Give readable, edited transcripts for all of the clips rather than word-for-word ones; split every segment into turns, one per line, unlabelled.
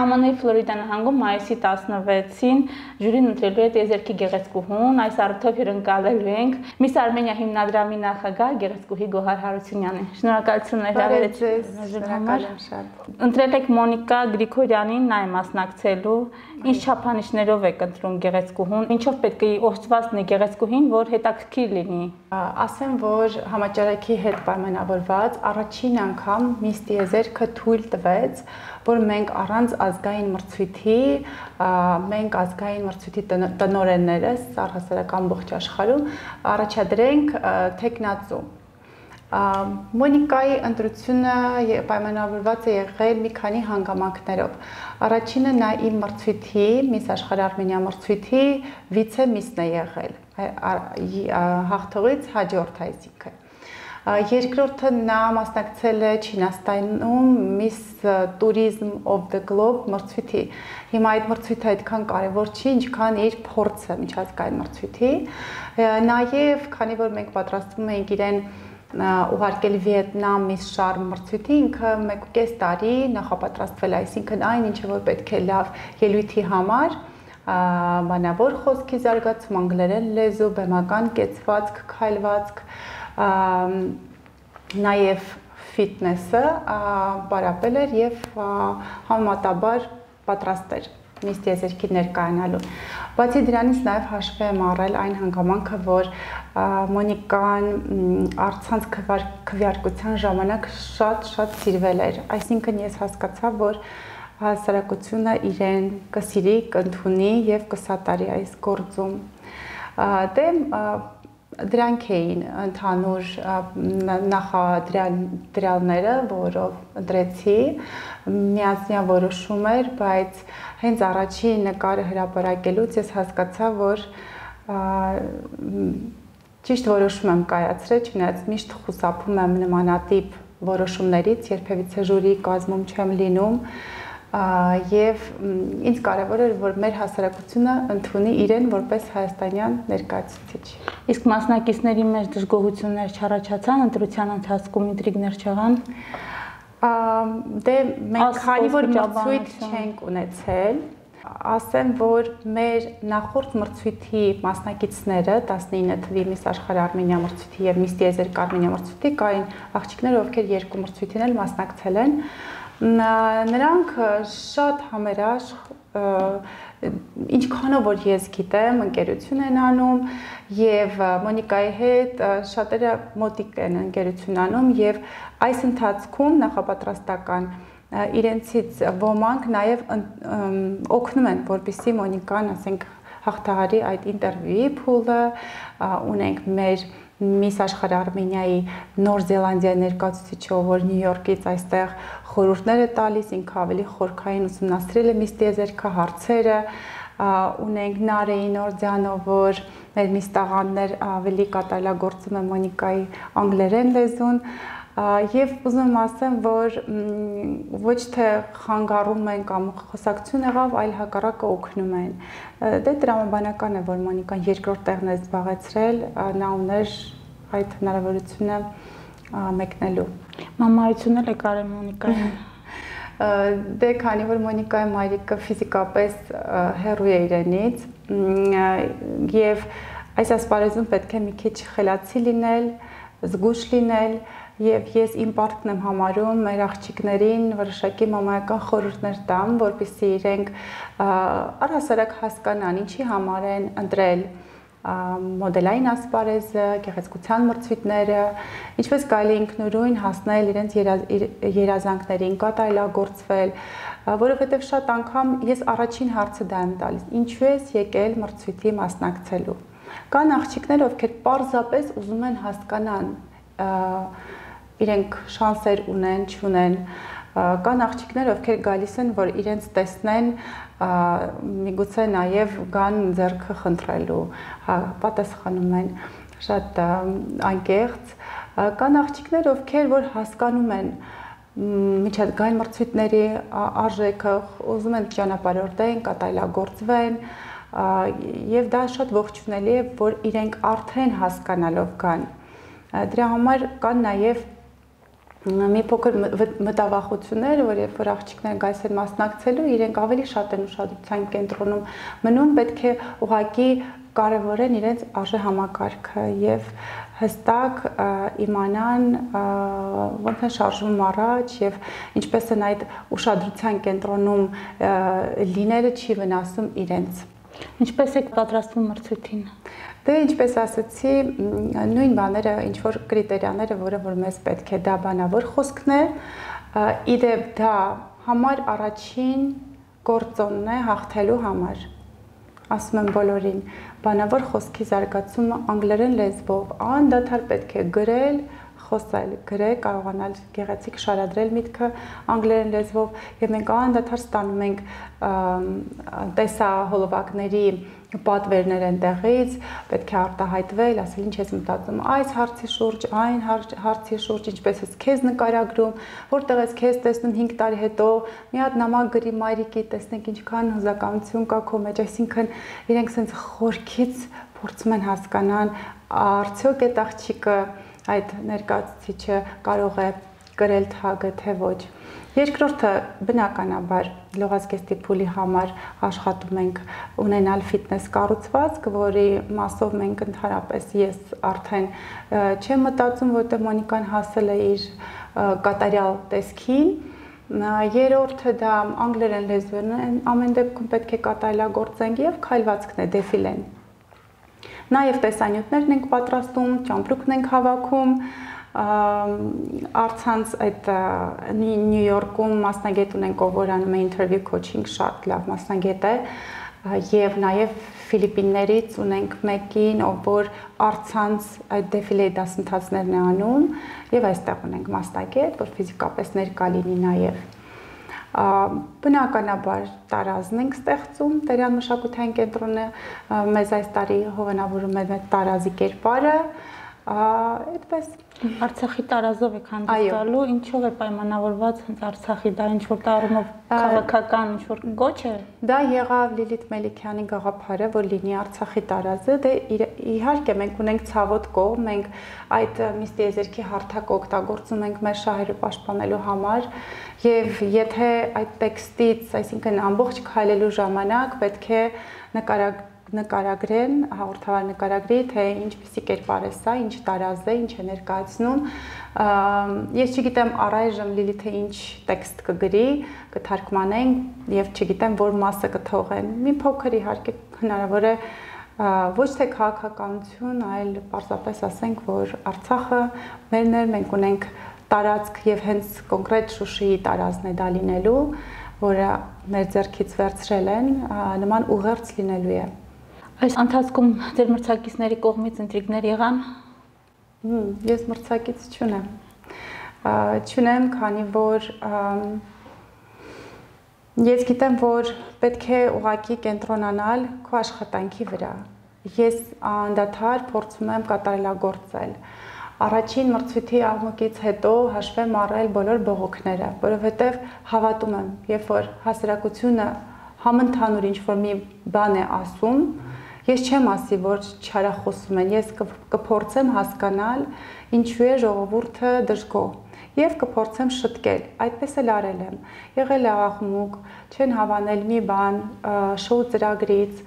ԱՄՆ-ի Ֆլորիդա նահանգում մայիսի 16-ին ժյուրին ընտրելու է տիեզերքի գեղեցկուհուն, այս առիթով հյուրընկալելու ենք Miss Armenia հիմնադրամի նախագահ գեղեցկուհի Գոհար Հարությունյանին։ Շնորհակալություն
հրավերեցի համար։
Ընտրել եք Մոնիկա Գրիգորյանին, նա է մասնակցելու։ Ինչ չափանիշներով եք ընտրում գեղեցկուհուն, ինչով պետք է օժտված լինի գեղեցկուհին, որ հետաքրքիր լինի։
Ասեմ, որ համաճարակի հետ պայմանավորված առաջին անգամ Miss Տիեզերքը թույլ տվեց, որ մենք առանց ազգային մրցույթի, մենք ազգային մրցույթի տնօրեններս առհասարակ ամբողջ աշխարհում առաջադրենք թեկնածու։ Մոնիկայի ընտրությունը պայմանավորված է եղել մի քանի հանգամանքներով։ Առաջինը նա իմ մրցույթի, Miss Աշխարհ Արմենիա մրցույթի վիցե միսն է եղել, հաղթողից հաջորդ այսինքն։ Երկրորդը նա մասնակցել է Չինաստանում Miss Tourism of the Globe մրցույթի։ Հիմա այդ մրցույթը այդքան կարևոր չի, ինչքան իր փորձը միջազգային մրցույթի։ Նաև, քանի որ մենք պատրաստվում ենք իրեն ուղարկել Վիետնամ Miss Charm մրցույթի, ինքը 1.5 տարի նախապատրաստվել, այսինքն այն ինչը որ պետք է լավ ելույթի համար, բանավոր խոսքի զարգացում, անգլերեն լեզու, բեմական կեցվածք, քայլվածք, նաև ֆիթնեսը պարապել էր եւ համեմատաբար պատրաստ էր Miss Տիեզերքի ներկայանալու։ Բացի դրանից նաև հաշվի եմ առել այն հանգամանքը, որ Մոնիկան առցանց քվեարկության ժամանակ շատ սիրվել էր, այսինքն ես հասկացա, որ հասարակությունը իրեն կսիրի, կընդունի եւ կսատարի այս գործում։ Դե դրանք էին ընդհանուր նախադրյալները, որով ընտրեցի, միասնյա որոշում էր, բայց հենց առաջին նկարը հրապարակելուց ես հասկացա, որ ճիշտ որոշում եմ կայացրել, չնայած միշտ խուսափում եմ նմանատիպ որոշումներից, երբևիցե ժյուրի կազմում չեմ լինում, եւ ինձ կարևոր էր, որ մեր հասարակությունը ընդունի իրեն որպես հայաստանյան ներկայացուցիչ։
Իսկ մասնակիցների մեջ դժգոհություններ չառաջացան, ընտրության ընթացքում ինտրիգներ չեղան։
Դե մենք քանի որ մրցույթ չենք ունեցել, ասեմ, որ մեր նախորդ մրցույթի մասնակիցները 19 թվի Miss Աշխարհ Արմենիա մրցույթի եւ Miss Տիեզերք Արմենիա մրցույթի կային աղջիկներ, ովքեր երկու մրցույթին էլ մասնակցել են։ Նրանք շատ համերաշխ, ինչքանով որ ես գիտեմ, ընկերություն են անում եւ Մոնիկայի հետ շատերը մոտիկ են ընկերություն անում եւ այս ընթացքում նախապատրաստական իրենցից ոմանք նաև օգնում են, որպեսզի Մոնիկան, ասենք, հաղթահարի այդ ինտերվյուի փուլը, ունենք մեր Miss Աշխարհ Արմենիայի Նոր Զելանդիայի ներկայացուցիչը, որ Նյու Յորքից այստեղ խորհուրդներ է տալիս, ինքը ավելի խորքային ուսումնասիրել է Miss Տիեզերքը, հարցերը, ունենք Նարեի Նորդյանը, որ մեր Miss տաղանդներ ավելի կատարելագործում է Մոնիկայի անգլերեն լեզուն, եւ ուզում եմ ասեմ, որ ոչ թե խանգարում են կամ խոսակցություն եղավ, այլ հակառակը օգնում են։ Դե տրամաբանական է, որ Մոնիկան երկրորդ տեղն է զբաղեցրել, նա ուներ այդ հնարավորությունը մեկնելու։
Մամայությունն էլ է կարել Մոնիկային։
Դե քանի որ Մոնիկայի մայրիկը ֆիզիկապես հեռու է իրենից, եւ այս ասպարեզում պետք է մի քիչ խելացի լինել, զգույշ լինել, եւ ես իմ պարտքն եմ համարում մեր աղջիկներին որոշակի մամայական խորհուրդներ տամ, որպեսզի իրենք առհասարակ հասկանան ինչի համար են ընտրել մոդելային ասպարեզը, գեղեցկության մրցույթները, ինչպես կարելի ինքնուրույն հասնել իրենց երազանքներին, կատարելագործվել, որովհետև շատ անգամ ես առաջին հարցը դա եմ տալիս. ինչու ես եկել մրցույթի մասնակցելու։ Կան աղջիկներ, ովքեր պարզապես ուզում են հասկանան իրենք շանսեր ունեն, չունեն, կան աղջիկներ, ովքեր գալիս են, որ իրենց տեսնեն, միգուցե նաև գան ձեռքը խնդրելու, պատասխանում են շատ անկեղծ, կան աղջիկներ, ովքեր որ հասկանում են միջազգային մրցույթների արժեքը, ուզում են ճանապարհորդեն, կատարելագործվեն, եւ դա շատ ողջունելի է, որ իրենք արդեն հասկանալով կան։ Դրա համար կան նաև մի փոքր մտավախություններ, որ երբ որ աղջիկները գալիս են մասնակցելու, իրենք ավելի շատ են ուշադրության կենտրոնում մնում, պետք է ուղղակի կարևորեն իրենց արժեհամակարգը եւ հստակ իմանան ոնց է շարժվում առաջ եւ ինչպես են այդ ուշադրության կենտրոնում լինելը չի վնասում իրենց։
Ինչպես եք պատրաստվում մրցույթին։
Դե ինչպես ասացի, նույն բաները, ինչ որ կրիտերիաները, որը որ մեզ պետք է, դա բանավոր խոսքն է, իդեպ դա համար առաջին գործոնն է հաղթելու համար։ Ասում եմ բոլորին, բանավոր խոսքի զարգացումը անգլերեն լեզվով, անդադար պետք է գրել, խոսել, գրել, կարողանալ գեղեցիկ շարադրել միտքը անգլերեն լեզվով եւ մենք անդադար ստանում ենք տեսահոլովակների պատվերներ են տեղից, պետք է արտահայտվել, ասել ինչ ես մտածում այս հարցի շուրջ, այն հարցի շուրջ, ինչպես ես քեզ նկարագրում, որտեղ ես քեզ տեսնում 5 տարի հետո, մի հատ նամակ գրի մայրիկի, տեսնենք ինչքան հուզականություն կա քո մեջ, այսինքն իրենք sense խորքից փորձում են հասկանան, արդյոք այդ աղջիկը այդ ներկայացուցիչը կարող է գրել թագը, թե ոչ։ Երկրորդը բնականաբար լողազգեստի փուլի համար աշխատում ենք ունենալ ֆիթնես կառուցվածք, որի մասով մենք ընդհանրապես ես արդեն չեմ մտածում, որտեղ Մոնիկան հասել է իր կատարյալ տեսքին։ Երրորդը դա անգլերեն լեզվն է, ամեն դեպքում պետք է կատարելագործենք եւ քայլվածքն է, դեֆիլեն։ Նաև տեսանյութներն ենք պատրաստում, ճամպրուկն ենք հավաքում, առցանց այդ Նյու Յորքում մասնագետ ունենք, ով որ անում է interview coaching, շատ լավ մասնագետ է, եւ նաև Ֆիլիպիններից ունենք մեկին, ով որ առցանց այդ դեֆիլեի դասընթացներն է անում, եւ այստեղ ունենք մասնագետ, որ ֆիզիկապես ներկա լինի նաև։ Բնականաբար տարազն ենք ստեղծում, Տերյան մշակութային կենտրոնը մեզ այս տարի հովանավորում է մեր տարազի կերպարը, այդպես
Արցախի տարազով եք հանդիսալու, ինչով է պայմանավորված հենց Արցախի, դա ինչ որ տարումով քաղաքական ինչ որ գոչ է։
Դա եղավ Լիլիթ Մելիքյանի գաղափարը, որ լինի Արցախի տարազը, դե իհարկե մենք ունենք ցավոտ կողմ, մենք այդ միստիեզերքի հարթակը օգտագործում ենք մեր շահերը պաշտպանելու համար, եւ եթե այդ տեքստից, այսինքն ամբողջ քայլելու ժամանակ պետք է նկարագրեն, հաղորդավար նկարագրի, թե ինչպիսի կերպար է սա, ինչ տարազ է, ինչ է ներկայացնում։ Ես չգիտեմ առայժմ Լիլիթը ինչ տեքստ կգրի, կթարգմանենք եւ չգիտեմ որ մասը կթողեն։ Մի փոքր իհարկե հնարավոր է ոչ թե քաղաքականություն, այլ պարզապես ասենք, որ Արցախը մերն է, մենք ունենք տարածք եւ հենց կոնկրետ Շուշիի տարածքն է դա լինելու, որը մեր ձեռքից վերցրել են, նման ուղերձ լինելու է։
Այս ընթացքում ձեր մրցակիցների կողմից ինտրիգներ եղան։
Ես մրցակից չունեմ։ Չունեմ, քանի որ ես գիտեմ, որ պետք է ուղղակի կենտրոնանալ քո աշխատանքի վրա։ Ես անդադար փորձում եմ կատարելագործել։ Առաջին մրցույթի աղմուկից հետո հաշվեմ առել բոլոր բողոքները, որովհետև հավատում եմ, երբ որ հասարակությունը համընդհանուր ինչ-որ մի բան է ասում, ես չեմ ասի, որ չարախոսում են, ես կփորձեմ հասկանալ ինչու է ժողովուրդը դժգոհ եւ կփորձեմ շտկել, այդպես էլ արել եմ։ Եղել է աղմուկ, չեն հավանել մի բան շոու ծրագրից,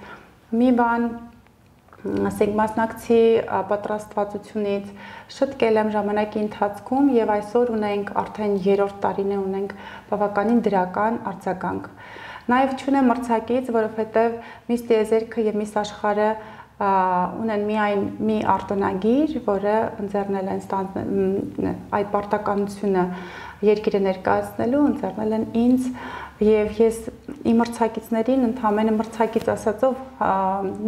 մի բան ասենք մասնակցի պատրաստվածությունից, շտկել եմ ժամանակի ընթացքում եւ այսօր ունենք արդեն 3-րդ տարին է ունենք բավականին դրական արձագանք։ Նաեւ չունեմ մրցակից, որովհետեւ Միս Տիեզերքը եւ Միս Աշխարհը ունեն միայն մի արտոնագիր, որը ընձեռնել են այդ պարտականությունը երկիրը ներկայացնելու, ընձեռնել են ինձ եւ ես իմ մրցակիցներին ընդհանրապես մրցակից ասածով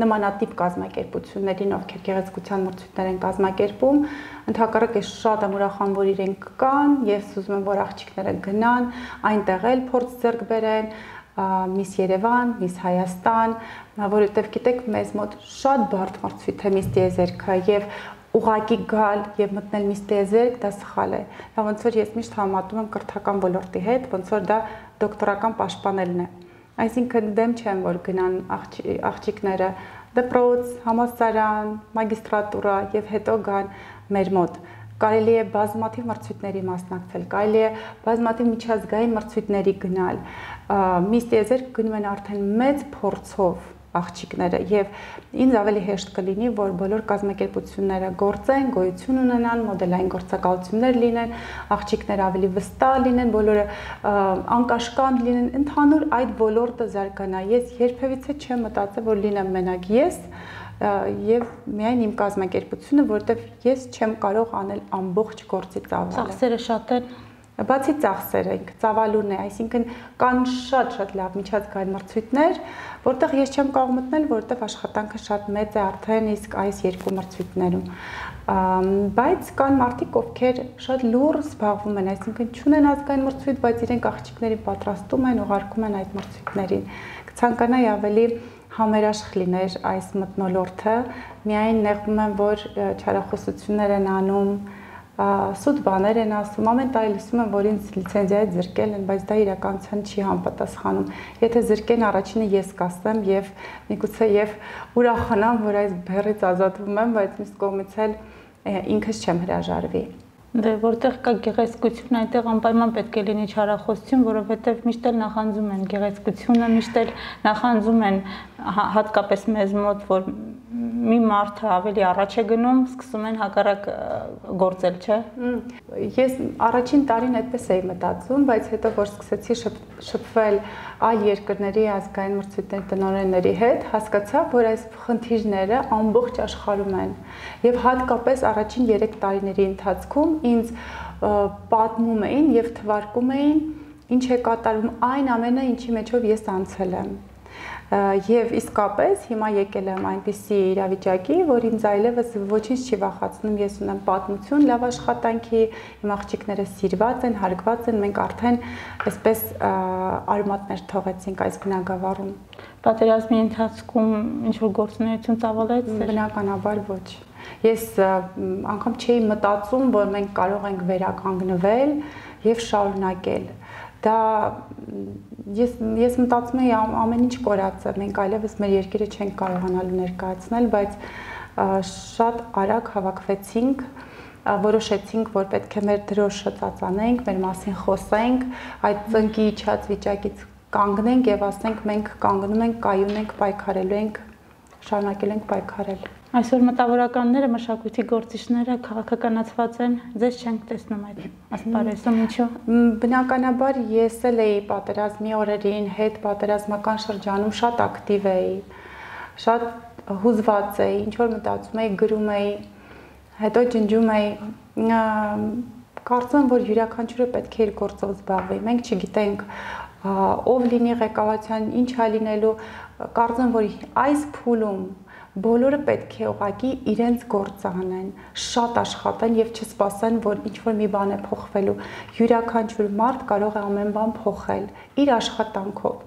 նմանատիպ կազմակերպություններին, ովքեր գեղեցկության մրցույթներ են կազմակերպում, ընդհակառակ ես շատ եմ ուրախանում, որ իրենք կան, ես ուզում եմ, որ աղջիկները գնան, այնտեղ էլ փորձ ձեռք բերեն, Միս Երևան, Միս Հայաստան, որովհետև գիտեք, մեզ մոտ շատ բարդ մրցույթ է Միս Տիեզերքը եւ ուղակի գալ եւ մտնել Միս Տիեզերք դա սխալ է։ Դա ոնց որ ես միշտ համատում եմ կրթական ոլորտի հետ, ոնց որ դա դոկտորական պաշտպանելն է։ Այսինքն դեմ չեմ, որ գնան աղջիկները դպրոց, համալսարան, մագիստրատուրա եւ հետո գան մեր մոտ։ կարելի է բազմաթիվ մրցույթների մասնակցել, կարելի է բազմաթիվ միջազգային մրցույթների գնալ։ Միս տիեզերք գնում են արդեն մեծ փորձով աղջիկները եւ ինձ ավելի հեշտ կլինի, որ բոլոր կազմակերպությունները գործեն, գոյություն ունենան, մոդելային գործակալություններ լինեն, աղջիկները ավելի վստահ լինեն, բոլորը անկաշկանդ լինեն, ընդհանուր այդ ոլորտը զարգանա։ Ես երբևիցե չեմ մտածել, որ լինեմ մենակ ես եւ միայն իմ կազմակերպությունը, որտեվ ես չեմ կարող անել ամբողջ գործի ծավալը։
Ծախսերը շատ են։
Բացի ծախսերը, ծավալուն է, այսինքն կան շատ լավ միջազգային մրցույթներ, որտեղ ես չեմ կարող մտնել, որտեղ աշխատանքը շատ մեծ է արդեն իսկ այս երկու մրցույթներում։ Բայց կան մարդիկ, ովքեր շատ լուռ զբաղվում են, այսինքն չունեն ազգային մրցույթ, բայց իրենք աղջիկներին պատրաստում են, ուղարկում են այդ մրցույթներին։ Կցանկանայի ավելի համերաշխ լիներ այս մթնոլորտը, միայն նեղվում եմ, որ չարախոսություններ են անում, սուտ բաներ են ասում, ամեն տարի լսում եմ, որ ինձ լիցենզիայից զրկել են, բայց դա իրականության չի համապատասխանում։ Եթե զրկեն, առաջինը ես կասեմ եւ միգուցե եւ ուրախանամ, որ այս բեռից ազատվում եմ, բայց մյուս կողմից էլ ինքս չեմ հրաժարվի։
Դե որտեղ կա գեղեցկություն, այնտեղ անպայման պետք է լինի չարախոսություն, որովհետև միշտ էլ նախանձում են գեղեցկությունը, միշտ էլ նախանձում են հատկապես մեզ մոտ, որ մի մարդը ավելի առաջ է գնում, սկսում են հակառակ գործել, չէ։
Ես առաջին տարին այդպես էի մտածում, բայց հետո որ սկսեցի շփվել այլ երկրների ազգային մրցույթների տնօրենների հետ, հասկացա, որ այս խնդիրները ամբողջ աշխարհում են։ Եվ հատկապես առաջին 3 տարիների ընթացքում ինձ պատմում էին եւ թվարկում էին, ինչ է կատարվում այն ամենը, ինչի մեջով ես անցել եմ։ Եվ իսկապես հիմա եկել եմ այնպիսի իրավիճակի, որ ինձ այլևս ոչինչ չի վախեցնում, ես ունեմ պատմություն լավ աշխատանքի, իմ աղջիկները սիրված են, հարգված են, մենք արդեն այսպես արմատներ թողեցինք այս բնագավառում։
Պատերազմի ընթացքում ինչ-որ գործունեություն ծավալեց։
Բնականաբար ոչ։ Ես անգամ չէի մտածում, որ մենք կարող ենք վերականգնվել եւ շարունակել։ Դա ես մտածում եի ամեն ինչ կորած է, մենք այլևս մեր երկիրը չենք կարողանալու ներկայացնել, բայց շատ արագ հավաքվեցինք, որոշեցինք, որ պետք է մեր դրոշը ծածանենք, մեր մասին խոսենք, այդ ծնկի իջած վիճակից կանգնենք եւ ասենք մենք կանգնում ենք, կայուն ենք, պայքարելու ենք, շարունակել ենք պայքարել։
Այսօր մտավորականները, մշակույթի գործիչները քաղաքականացված են, ձեզ չենք տեսնում այդ ասպարեզում, ինչու։
Բնականաբար ես էլ էի պատերազմի օրերին, հետ պատերազմական շրջանում շատ ակտիվ էի, շատ հուզված էի, ինչ որ մտածում էի, գրում էի, հետո ջնջում էի, կարծում եմ, որ յուրաքանչյուրը պետք է իր գործով զբաղվի։ Մենք չգիտենք ով լինի ղեկավարության, ինչ է լինելու, կարծում եմ, որ այս փուլում բոլորը պետք է ուղղակի իրենց գործը անեն, շատ աշխատեն եւ չսպասեն, որ ինչ-որ մի բան է փոխվելու։ Յուրաքանչյուր մարդ կարող է ամեն բան փոխել իր աշխատանքով։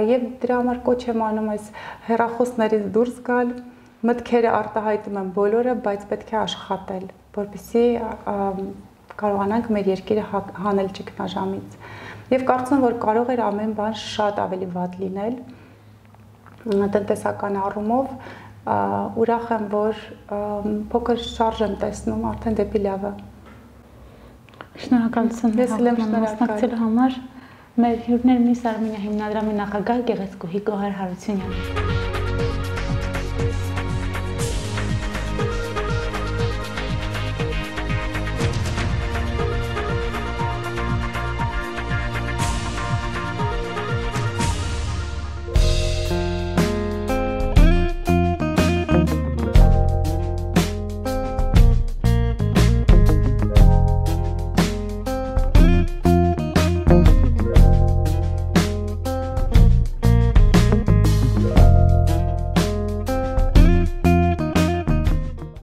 Եվ դրա համար կոչ եմ անում այս հեռախոսներից դուրս գալ, մտքերը արտահայտում են բոլորը, բայց պետք է աշխատել, որպեսզի կարողանանք մեր երկիրը հանել ճգնաժամից։ Եվ կարծում եմ, որ կարող էր ամեն բան շատ ավելի վատ լինել տնտեսական առումով, ուրախ եմ, որ փոքր շարժ եմ տեսնում արդեն դեպի լավը։
Շնորհակալություն մասնակցելու համար։ Մեր հյուրներ միս Արմենիա հիմնադրամի նախագահ գեղեցկուհի Գոհար Հարությունյանը։